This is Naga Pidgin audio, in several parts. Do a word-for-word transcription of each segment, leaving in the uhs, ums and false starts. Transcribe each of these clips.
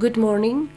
Good morning.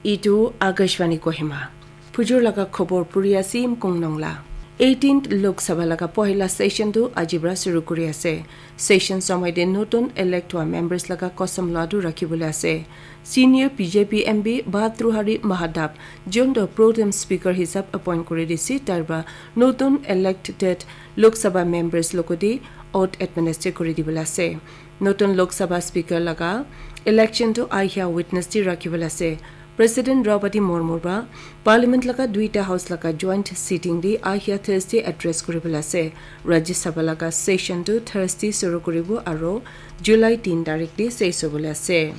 Itu Akashvani Kohima. Phujur laga khobor puri asim kong nongla. eighteenth Lok Sabha laga pohila session tu aji pra suru kuri ase. Session somoi te notun elect hua members laga kosam loa tu rakhi bole ase. Senior B J P M P Bhartrihari Mahadab, jun tu pro tem speaker hisab appoint kuri dise, tar pra notun elected Lok Sabha members logote oath administer kuri dibole ase. Notun Lok Sabha speaker laga election tu ahia Wednesday rakhi bole ase. President Draupadi Murmu pra Parliament laga duita house laga joint sitting di ahia Thursday address kuri bole ase. Rajya Sabha laga session tu Thursday suru kuribo aro July tin tarik di sesh hobole ase.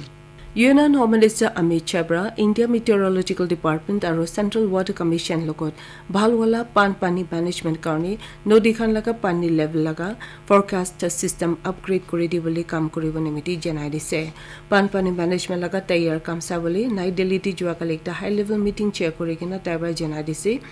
Union Home Minister Amit Shah pra India Meteorological Department aro Central Weather Commission logot bhal wala pan pani management karne nodi khan laga pani level laga forecast system upgrade kuri dibole kam kuribo nimiti janai dise. Pan pani management laga tayar kam sabole Nai Delhi di jua kali ekta high level meeting chair kuri kena tai pra janai dise.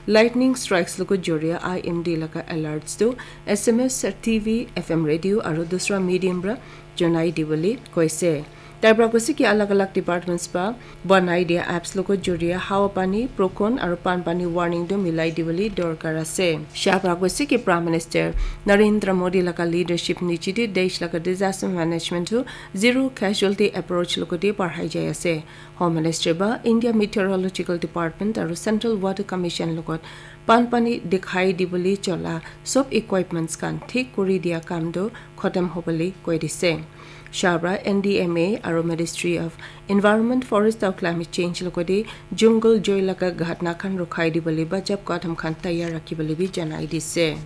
Lightning strikes logot joria I M D laga alerts tu S M S, T V, F M radio aro dusra medium pra janai dibole koise. Tai pra koise ki alag alag departments pra banai dia apps logot joria hawa pani, procon aro pan pani warning tu milai dibole dorkar ase. Shah pra koise ki Prime Minister Narendra Modi laga leadership niche te desh laga disaster management tu zero casualty approach logote barhai jai ase. Home Minister ba India Meteorological Department aro Central Weather Commission logot pan pani dikhai dibole chola sob equipments khan thik kuri dia kam tu khotom hobole koi dise. Shah pra N D M A aro Ministry of Environment, Forest aro Climate Change logote jungle joi laga ghatna khan rukhai dibole bachap kadam khan tayar rakhi bole bi janai dise.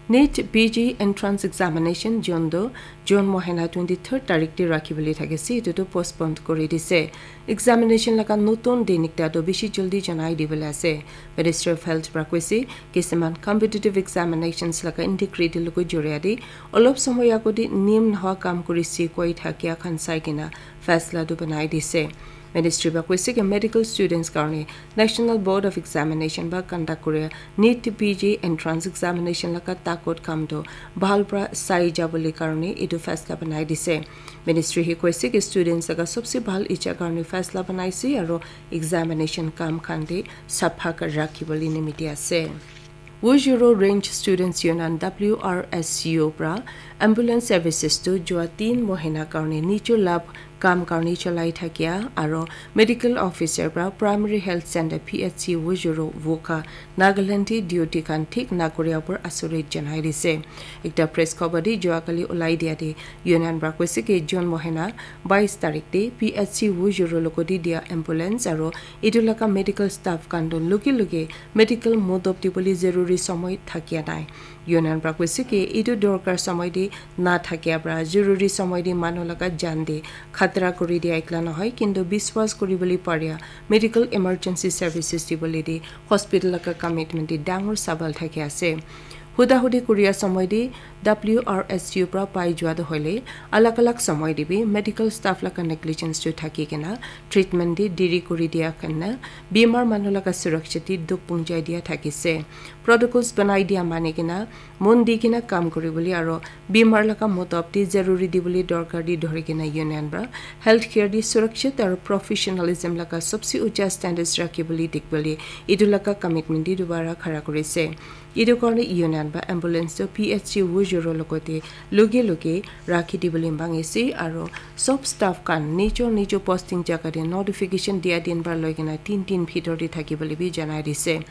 NEET P G entrance examination jun tu June mohina twenty third tarik te rakhi bole thakise, etu tu postpone kuri dise. Examination laga notun din ekta tu bishi jaldi janai dibole ase. Ministry of Health pra koise, kisiman competitive examinations laga integrity logot joria te olop somoy agote niyam nohoa kam kurise koi thakia khan sai kena faisla tu banai dise. Ministry pra koise ki medical students karne National Board of Examination pra conduct kuria NEET P G entrance examination laga takot kam tu bhal pra sai jabole karne etu faisla banai dise. Ministry hi koise ki students laga sobse bhal icha karne faisla banaise aro examination kam khan te sapha kar rakhi bole nimiti ase. Wujuro Range Students Union W R S U pra ambulance services tu jua tin mohina karne nijor labh kam karne cholai thakia aro medical officer pra Primary Health Center P H C Wujuro Wokha Nagaland te duty khan thik nakoria por asurit janai dise. Ekta press khobor te jua kali ulai dia te union pra koise ki June mohina bais tarik te P H C Wujuro logote dia ambulance aro etu laga medical staff khan tu luki luki medical modop dibole zaruri somoy thakia nai. Union pra koise ki etu dorkar somoy te na thakia pra zaruri somoy te manu laga jan te khatra kuri dia ekla nohoi, kintu biswas kuri bole paria medical emergency services dibole te hospital laga commitment te dangor sabal thaki ase. Huda hudi kuria somoy te W R S U pra pai jua tu hoile alag alag somoy te bi medical staff laga negligence tu thaki kena treatment te deri kuri dia khan na bimar manu laga suraksha te dukh punjai dia thakise. Protocols banai dia mani kena mon di kena kam kuri bole aro bimar laga modop te zaruri dibole dorkar te dhori kena union pra healthcare te surakshit aro professionalism laga sobse ucha standards rakhi bole dik bole etu laga commitment te dubara khara kurise. Etu karne union pra ambulance tu P H C Wujuro logote luki luki rakhi dibole mangise aro sob staff khan nijor nijor posting jaga te notification dia din pra loi kena tin din bhitor te thaki bole bi janai dise.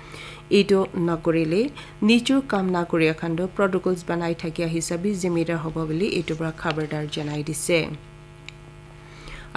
Etu nakorile nijor kam nakoria khan tu protocols banai thakia hisab bi zimedar hobo bole etu pra khabardar janai dise.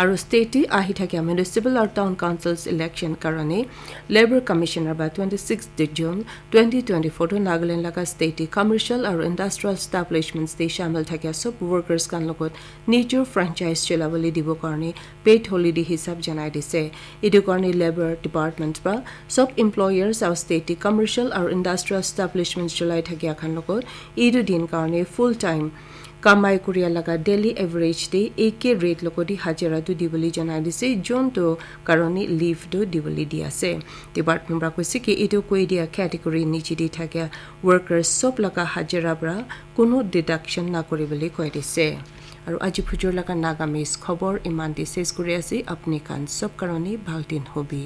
Aro state te ahi thakia municipal aro town councils election karone Labour Commissioner pra twenty sixth June twenty twenty four tu Nagaland laga state te commercial aro industrial establishments te shamil thakia sob workers khan logot nijor franchise cholabole dibo karne paid holiday hisab janai dise. Etu karne Labour Department pra sob employers aro state te commercial aro industrial establishments cholai thakia khan logot etu din karne full time kamai kuria laga daily average te eke rate logote hajira tu dibole janai dise, jun tu karone leave tu dibole di ase. Department pra koise ki etu koi dia category niche te thakia workers sob laga hajira pra kunu deduction nakuri bole koi dise. Aru aji phujor laga Nagamese khobor iman te ses kuri ase. Apni khan sob karone bhal din hobi.